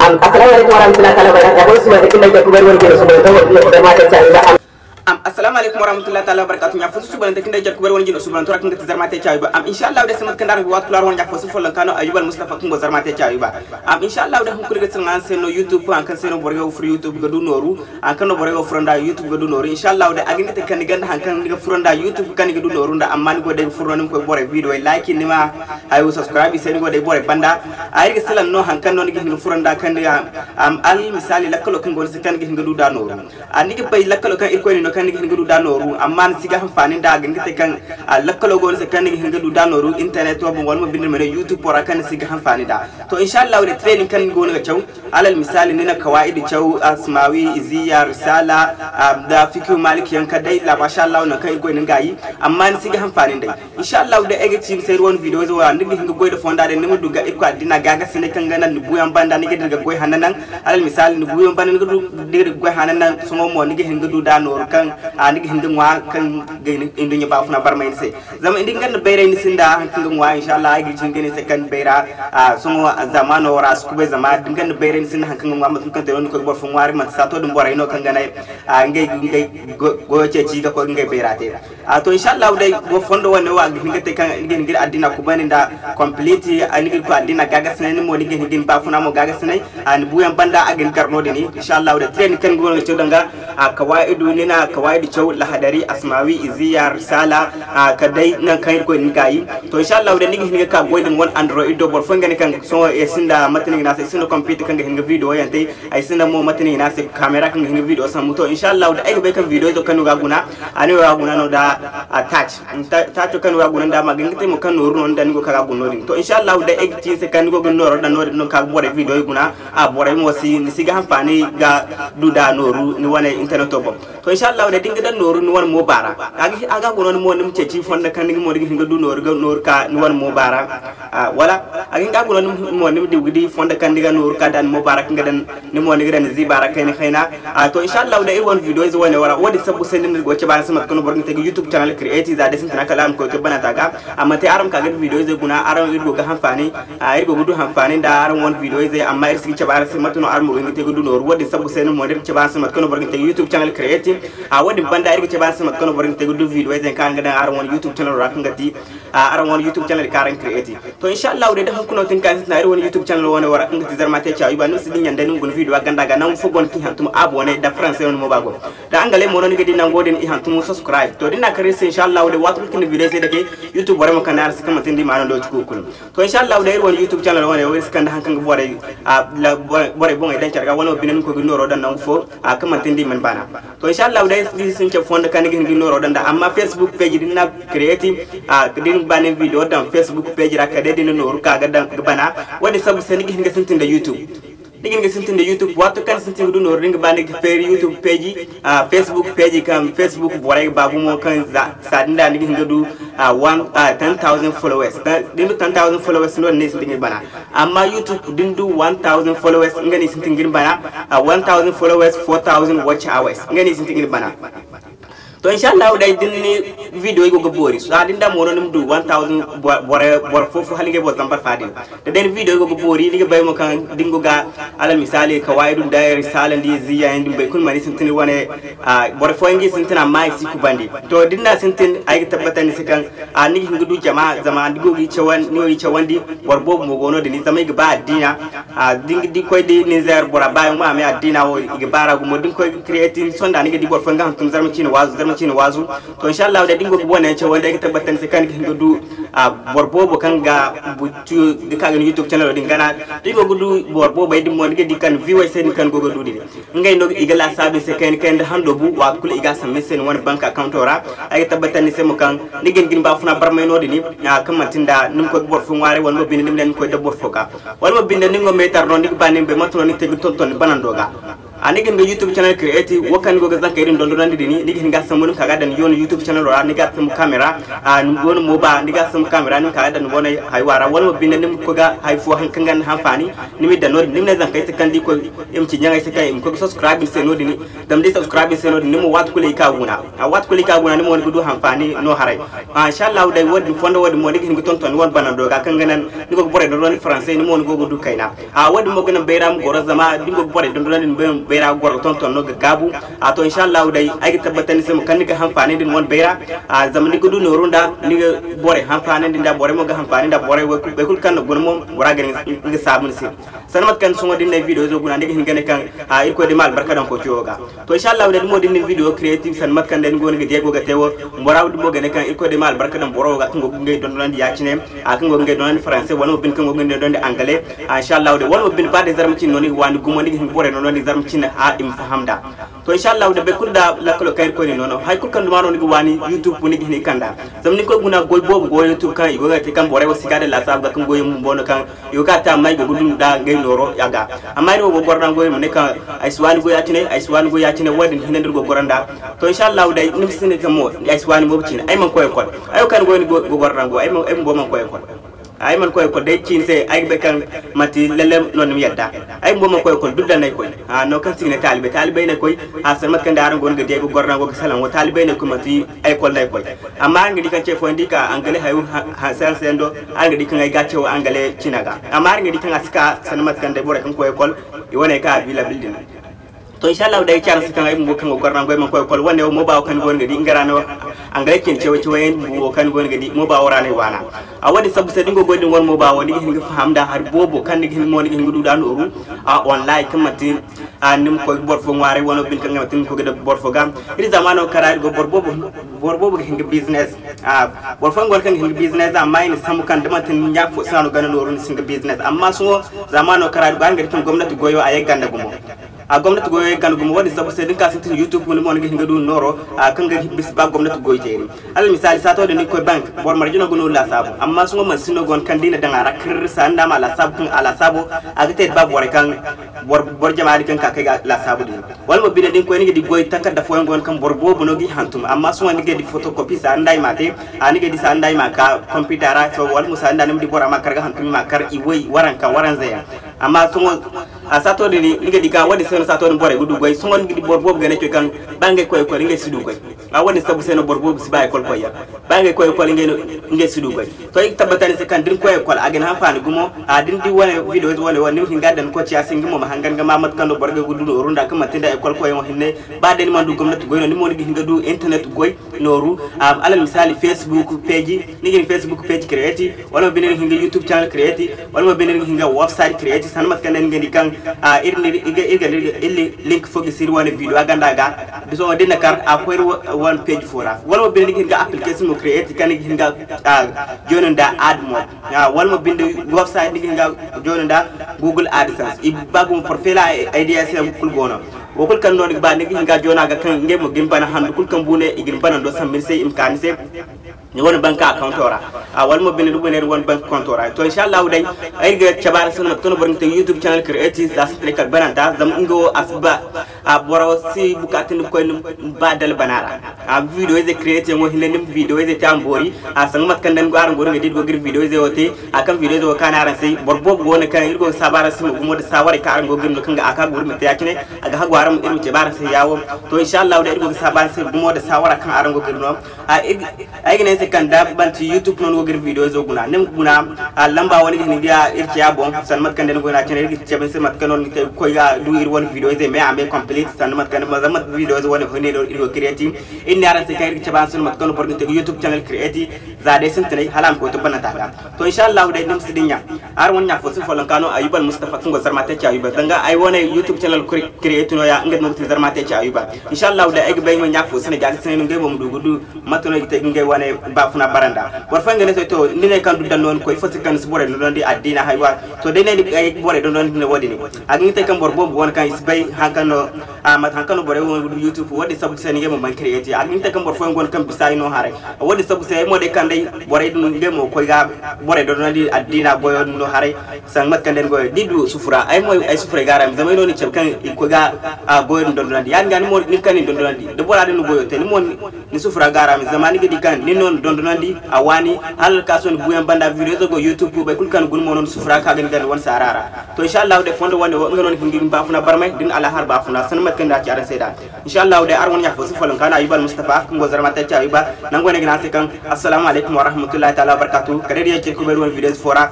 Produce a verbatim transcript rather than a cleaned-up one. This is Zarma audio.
Assalamu alaikum warahmatullahi ta'ala wabarakatuh. Ɲa fo suubanante kaŋ day jarku bari wane jine suubanante cawi ba. Am, assalamu alaikum warahmatullahi ta'ala wabarakatuh. Ɲa fo suubanante kaŋ day jarku bari wane jine suubanante ra kaŋ ga ti Zarma te cawi ba. Am, inshallah day sambat kaŋ da araŋ ga waati kulu araŋ wane ɲa fo su follonka no Ayyub Al Mustafa kaŋ go Zarma te cawi ba. Am, inshallah day hunkuna ga ti araŋ se no YouTube, haŋ kaŋ se no borey go ga furo YouTube ga du nooru. Haŋ kaŋ no borey go ga furo nda YouTube ga du nooru. Inshallah day a ga hin ga te kaŋ ni gonda haŋ kaŋ ni ga furo nda YouTube kaŋ ni ga du nooru nda, amma ni go day ga furo no ni ma koy borey video like ni ma hayo subscribe i se ni go day borey banda. A iri ga salaŋ no haŋ kaŋ no ni ga hin ga furo nda kaŋ ni ga, am, al misali lakkalo kaŋ go ni se kaŋ ni ga hin ga du da nooru. A ni ga bay lakkalo kaŋ Irkoy ni no kaŋ ni ga hin ga du da nooru, amma ni si ga hanfaani nda a ga hin ga te kaŋ, a, lakkalo go ni se kaŋ ni ga hin ga du da nooru internet wo boŋ wala mo binde ma ne YouTube wo ra kaŋ ni si ga hanfaani nda. To inshallah day training kaŋ ni go no ga caw, alal misali ni na kawaa'idu caw, asmawi, iziya, risala, a, da fikihu maliki yaŋ ka day la mashallah nangu kaŋ Irkoy ni ga yi, amma ni si ga hanfaani nd'ey. Inshallah day ay ga ci ni se iri wane video izo wo ra ni ga hin ga goy nda fonda day ni ma du ga Irkoy addina gaagasinay kaŋ ga naŋ ni buuyaŋ banda ni ga dira ga goy hanna naŋ. Alal misali ni buuyaŋ banda ni ga du dira ga goy hanna naŋ, sohõ mo ni ga hin ga du da nooru kaŋ, a, ni ga hin ga ŋwa kaŋ ga hin nduɲɲa baafuna barmay ni se. Zama da ni gonda bayray ni sinda haŋ kaŋ ga ŋwa inshallah ay ga ci ni ga ne se kaŋ bayra, a, sohõ zamano wo ra a si kubay zama da ni gonda bayray ni sinda haŋ kaŋ ga ŋwa mate kaŋ te no ni koy ga boro fo ŋwaari manti saato din borey no kaŋ ga ne, a, ngey, ngey go-, goyo ceeci ga koy ga ngey bayra te. A, to inshallah day wo fondo wane wo a ga hin ga te kaŋ ni ga hin ga iri addina kubandi nda complete, a, ni ga iri koy addina gaagasinay ni mo ni ga hin ga ni baafuna mo gaagasinay, a, ni buuyaŋ banda a ga ni gar no-din. Inshallah day training kaŋ ni go no ga caw danga, a, kawaa'idu ni na kawaa'idu caw lahadari asmawi iziya risala, a, ka day nangu kaŋ Irkoy ni ga yi. To inshallah day ni ga hin ga ka goy din wane Android do boro fo nga ne kaŋ sohõ ay sinda mate no i ga ne a se, ay sinda computer kaŋ ga hin ga video yaŋ te. Ay sinda mo mate no i ga ne a se camera kaŋ ga hin ga video sambu. To inshallah day ay ga bay kaŋ video izo kaŋ ni go ga guna, a ni go ga guna no da, a, touch. Ta-, touch kaŋ ni go ga guna nda a ma ga hin ga te mo kaŋ nooru no ni daŋ ni go ga ka ga guna no-din. To inshallah day ay ga ci ni se kaŋ ni go ga ni nooro daŋ no-din no ka ga borey video guna, a, borey mo si, ni si ga hanfaani ga du da nooru ni wane interneto boŋ. To inshallah day da ni ga daŋ nooru ni wane mooba ra. A ga, a ga guna ni mo ni ma ceeci fonda kaŋ ni ga mo ni ga hin ga du nooru ga nooru ka ni wane mooba ra. A, wala a ga hin ga guna ni mo ni ma di ga di fonda kaŋ ni ga nooru ka da ni mooba ra kaŋ ga daŋ ni mo ni ga daŋ ni ziiba ra kayna kayna. A, to inshallah day iri wane video ize wane wo ra wo-din sabbu se no iri go ga cabe araŋ se mate kaŋ no boro ga te ga YouTube channel create za day sintina kala a ma koy ga bananta ga. Amma te araŋ ma ka ga iri video ize guna araŋ iri go ga hanfaani, a, iri go ga du hanfaani nda araŋ wane video ize amma iri si ga cabe araŋ se mate no araŋ mo ga hin ga te ga du nooru. Wo-din sabbu se no mo iri ga cabe araŋ se mate kaŋ no boro ga te ga YouTube channel create. A, wo-din banda iri ga cabe araŋ se mate kaŋ no boro ga hin ga te ga du video ize kaŋ araŋ ga daŋ araŋ wane YouTube channel ra kaŋ ga ti, a, araŋ wane YouTube channel kaŋ araŋ create. To inshallah day da hunkuna no tin kaŋ sintina iri wane YouTube channel wane wo ra kaŋ ga ti Zarma te cawi ba ni ma si dinya day ni ma guna video a ganda ga nangu fo go no kaŋ i hantum abonné da français no ni mo ba go. Da angalay mo no ni ga di nango din i hantum subscribe. To da ni na kar iri se inshallah day waati kulu kaŋ ni video se dake YouTube borey ma kande araŋ se kaŋ manti ni di ma araŋ looci kulu kulu. To inshallah day iri wane YouTube channel wane wo iri si kande haŋ kaŋ ga borey, a, la, borey, borey boŋey daŋ care ga wala mo binde ni koy ga nooro daŋ nangu fo, a, kaŋ manti ni di mana baana. To inshallah day iri si ni cabe fondo kaŋ ni ga hin ga nooro daŋ da amma Facebook page din na create, a, din ba ni video daŋ Facebook page ra kala day din nooru ka ga daŋ ga bana. Wo-din sabbu se ni ga hin ga sintin da YouTube. Ni ga hin ga sintin da YouTube waati kaŋ ni sintin ga du nooru din ga ba ni ga feeri YouTube page, a, Facebook page kaŋ Facebook borey ga ba gumo kaŋ za, saa din da ni ga hin ga du, a, one, a, ten thousand followers. Da ni du ten thousand followers no-din ni sintin ga bana. Amma YouTube da ni du one thousand followers nga no i sintin ga ni bana, a, one thousand followers, four thousand watch hours nga no i sintin ga ni bana. To inshallah day da ni video go ga boori, a, da ni daŋ mo no ni ma du one thousand boro, boro fo fo hala ngey boro zambar fa din. Da day ni video go ga boori ni ga bay mo kaŋ da ni go ga alal misali kawaa'idu nda risala nda iziya yaŋ din boro kulu mana i sintin wane, a, boro fooyaŋ ga i sintin amma i si kubandi. To da ni na sintin ay ga tabbatandi ni se kaŋ, a, ni ga hin ga du jama zama ni go ga i cawandi, ni go ga i cawandi. Boro boobo mo go no-din zama i ga ba addiina. A, da ni ga di koy da Nizer bora baayaŋ ma a me addiina wo i ga baar'a gumo da ni koy ga create ni sonda ni ga di boro fooyaŋ ga hantum Zarma ciine waazu, Zarma ciine waazu. To inshallah day da ni go ga boro yaŋ cawandi ay ga tabbatandi ni se kaŋ ni ga hin ga du, a, boro boobo kaŋ ga bu-, ga ka ga ni YouTube channel din gana. Da ni go ga du boro boobey din mo ni ga di kaŋ view ay se din kaŋ ni go ga du din. Ngey no i ga laasaabu ni se kayna kayna nda hando bu waati kulu i ga a sambu ni se ni wane bank accounto ra. Ay ga tabbatandi ni se mo kaŋ ni ga hin ga ni baafuna barmay no-din, a, kaŋ manti nda ni ma koy ga boro fo ŋwaaray wala mo binde ni ma ne ni ma koy da boro fo ga. Wala mo binde ni nga meetar no ni ga ba ni ma bay mate no ni ga te ga tonton ni banando ga. A ni ga hin ga YouTube channel create, wo kaŋ ni go ga zankey din dondonandi din, ni ga hin ga sambu ni ma ka ga daŋ ni YouTube channel ra, ni ga sambu camera, a ni go no mo ba ni ga sambu camera, ni ma ka ga daŋ ni wane haywa ra, wala mo binde ni ma koy ga hay fo haŋ kaŋ ga ni hanfaani, ni ma daŋ no-din, ni ma ne zankey se kaŋ da i koy i ma ci ɲaŋey se kaŋ i ma koy ga subscribe ni se no-din. Zama da i subscribe ni se no-din, ni mo waati kulu i ka guna. A waati kulu i ka guna, ni mo ni ga du hanfaani no haray. Ah, inshallahu day, wo-din fondo wo-din mo ni ga hin ga tonton ni wane banando ga kaŋ ga naŋ ni go ga borey dondonandi français, ni mo ni go ga du kayna. A wo-din mo ga naŋ bayra ma goro, zama da ni go ga borey dondonandi ni bayra ga goro ga tonton no ga gaabu. A to, inshallahu day, ay ga tabbatandi ni se mo kaŋ ni ga hanfaanandi ni wane bayra. A zama ni ga du nooru nda ni ga borey hanfaanandi nda, borey mo ga hanfaani nda borey, way kulu, way kulu kaŋ na guna mo, bora ga nga saabu ni se. Sanda mate kaŋ sohõ da ni na ay video zo guna, ni ga hin ga ne kaŋ, a, Irkoy day ma albarka daŋ koociyo ga. To, inshallahu day, da mo da ni na video creative, sanda mate kaŋ day ni go ni ga di ay go ga te wo, bora wo din mo ga ne kaŋ Irkoy day ma albarka daŋ boro wo ga kaŋ go ga ngey dondonandi ya-cine, a, kaŋ go ga ngey dondonandi français, wala mo bine kaŋ go ga ngey dondonandi anglais. A, inshallahu day, wala mo bine ba day zarma cine no ni ga waani gumo, ni ga hin ga borey dondonandi zarma cine, a, i ma faham nd'a. To, inshallahu day, boro kulu da lakkalo kaŋ Irkoy na ni no no. Hay kulu kaŋ duma no ni ga waani YouTube, ni ga hin ga kand'a. Zama ni koy guna goy boobo go YouTube kaŋ i go ga te kaŋ borey wo si ga daŋ laasaabu ga kaŋ goy bumbo no kaŋ i go ga te, amma i go ga du nda ngey nooro a ga. Amma iri wo go ga goro nda goy, ma ne kaŋ ay si waani goy ya-cine, ay si waani goy ya-cine, wo-din hinne nda iri go ga goro nda. To, inshallahu day, ni ma si ne kaŋ mo ay si waani mo ga cine, ay mana koy école. Ay wo kaŋ ni go, ni go ga goro nda goy, ay ma, ay bumbo mana koy école. Ay mana koy école, day cine se, ay ga bay kaŋ manti lalle no ni ma yadda. Ay bumbo mana koy école, dudda no ay koy. A, no kaŋ se i ga ne taalibey, taalibey no ay koy. A, sanda mate kaŋ day araŋ go no ga di ay go ga goro nda goy ga salaŋ wo, taalibey no ay koy, manti école no ay koy. Amma araŋ ga di kaŋ ce fooyaŋ di ka anglais hayo, ha, ha, science yaŋ do, araŋ ga di kaŋ ay ga ce wo anglais cina ga. Amma araŋ ga di kaŋ a si ka sanda mate kaŋ day borey kaŋ koy école, i wane ka a bi labil din. To, inshallahu day, ay ga ci araŋ se kaŋ ay bumbo kaŋ go ga goro nda goy mana koy école, wane wo mo ba wo kaŋ ni go no ga di nga ra no, anglais cine cawo-cawo yaŋ bumbo wo kaŋ ni go no ga di mo ba wo ra no ay waana. A, wo-din sabbu se da ni go ga goy din wane mo ba wo, ni ga hin ga faham nda hari boobo kaŋ ni ga hin mo, ni ga hin ga du nd'a nooru, a, online kaŋ manti a, ni ma koy ga boro fo ŋwaaray, wano bine kaŋ ga manti ni ma koy ga daŋ boro fo ga. Iri zamano kaŋ ra iri go, boro boobo, boro boobo ga hin ga business. A, boro fooyaŋ go no kaŋ ga hin ga business, amma i na sambu kaŋ da manti ni ɲa fo se no ga ni nooru ni si hin ga business. Amma sohõ zamano kaŋ ra iri go, araŋ ga di kaŋ gomnati goyo a ye ganda gumo. A, gomnati goyo ye ganda gumo, wo-din sabbu se da ni ka sintin YouTube, ni mo ni ga hin ga du nooro, a, kaŋ ga bisa ba gomnati goy teeri. Alal misaali, saato din ni koy bank, boro marje no ga nooru laasaabu. Amma sohõ mansin no go no kaŋ da i na daŋ a ra kirri, sanda ma laasaabu kaŋ a laasaabu, a ga te da ba borey kaŋ boro, boro jama din kaŋ ka kay ga laasaabu din. Wala mo bine da ni koy, ni ga di goy takarda fooyaŋ go no kaŋ boro boobo no g'i hantum. Amma sohõ ni ga di photocopy, sanda i m'a te, a, ni ga di sanda i m'a ka computer ra, so, wala mo sanda ni ma di bora ma kar ga hantum, i m'a kar i way, waranka, waranza yaŋ. Amma sohõ, a, saato din, ni ga di kaŋ wo-din se no saato din borey ga du goy. Sohõ ni ga di boro boobo ga ne coy kaŋ ba ngey koy école, ngey si du goy. A, wo-din sabbu se no boro boobo si ba école koyyaŋ. Ba ngey koy école, ngey no, ngey si du goy. To, i ga tabbatandi ni se kaŋ da ni koy école, a ga ni hanfaani gumo. A, da ni di wane video ize wane wo, ni ma hin ga daŋ ni koy ciya se, nga mo ma hangan ga ma mate kaŋ no boro ga du nooru nda kaŋ manti nda école koyyaŋo hinne. Ba day ni mana du gomnati goy no, ni mo ni ga hin ga du internet goy nooru. A, alal misaali, Facebook page, ni ga hin Facebook page create, wala mo binde ni ga hin ga YouTube channel create, wala mo binde ni ga hin ga website create, sanda mate kaŋ day ni ga di kaŋ, a, iri, iri, iri ga, iri ga, iri ga, iri link fo ga siri wane video a ganda ga. Bisa wo din na kar a koy iri wa-, wane page fo ra. Wala mo binde ni ga hin ga application mo create kaŋ ni ga hin ga, a, join nda ad mo. A, wala mo binde website ni ga hin ga join nda Google AdSense. I ba gumo profile, a, ideas yaŋ kulu go no. Wo kulu kaŋ no ni ga ba, ni ga hin ga join a ga kaŋ ngey mo ga ni bana handu kulu kaŋ bu ne i ga ni bana do sambu ni se, i ma ka ni se. Ni wane bank account ra. A, wala mo binde ni wane, ni wane bank account ra. To, inshallahu day, ay ga cabe araŋ se no mate kaŋ no boro ga te YouTube channel create za sintinay kala bananta, zama nga wo a si ba, a, boro si bukaata ni koy ni ba dala bana ra. A, video ize create yaŋo hinne, ni ma video ize te a ma boori. A, sanga mate kaŋ day ni go, araŋ go no ga di iri go ga iri video ize wo te. A, kaŋ video ize wo kaanu araŋ se, boro boobo go no kaŋ iri go ga saabu araŋ se mo gumo nda saawaray kaŋ araŋ go ga iri no kaŋ ga a ka ga iri ma te ya-cine. A ga hagu araŋ, iri ma cabe araŋ se yaawo. To, inshallahu day, iri go ga saabu araŋ se gumo nda saawara kaŋ araŋ go ga iri no. A, iri, ay ga ne ni se kaŋ da manti YouTube no ni go ga iri video izo guna, ni ma guna, a, lamba wo ni ga hin ga iri ciya boŋ, sanda mate kaŋ day ni go no a cine, iri ga cabe ni se mate kaŋ no ni ga te ga koy ga du iri wane video ize me a me complete, sanda mate kaŋ day, zama video ize wane hinne no iri go ga create. Iri ne araŋ se kaŋ iri ga cabe araŋ se no mate kaŋ no boro ga te ga YouTube channel create, za day sintinay hala a ma koy to bananta ga. To, inshallahu day, ni ma si dinya. Araŋ wane ɲa fo si folloŋ ka no Ayuba Almustafa kaŋ go Zarma Tech Ayuba. Danga ay wane YouTube channel cre-, create no ya, nga no ga ti Zarma Tech Ayuba. Inshallahu day, ay ga bay nga ɲa fo si ne, jaati si ne no ngey mo ma du ga du mate no i ga te ga ngey wane baafuna baranda. Boro fooyaŋ ga ne se to ni ne kaŋ du daŋ no ni koy ifo se kaŋ ni si borey dondonandi addiina haywa. To day ne ni ga borey dondonandi ne wo-din. A ga hin te kaŋ boro boobo go no kaŋ i si bay haŋ kaŋ no a mate haŋ kaŋ no borey wo youtube wo-din sabbu se ni ga mo man create a ga hin te kaŋ boro fooyaŋ go no kaŋ bisa i no haray. Wo-din sabbu se ay mo day kaŋ day borey din ngey mo koy ga borey dondonandi addiina goyo din no haray. Sanga mate kaŋ day ni goyo da i du sufura ay mo ay sufuray ga a ra zama ay no ni cabe kaŋ i koy ga goyo din dondonandi ya-din ga ni mo ni kaŋ ni dondonandi da bora din ni goyo te ni mo ni sufura ga a ra zama ni ga di kaŋ ni no ni dondonandi a waani hala alkaaso ni buuyaŋ banda video izo go youtube boro kulu kaŋ ni guna mo no ni sufura ka ga ni ganda wane saara ra. To inshallahu day fondo wane wo nga no ni ga hin ga ni baafuna barmay da ni alahar baafuna sanda mate kaŋ ni na ci araŋ se nd'a. Inshallahu day araŋ wane ɲaafo si folloŋ kaŋ no ayuba almustafa kaŋ go zarma tacci ayuba. Nangu wane ga ne araŋ se kaŋ assalamu alaykum warahmatullahi taala wabarkatu kala day da yaŋ cine kubay wane video izo fo ra.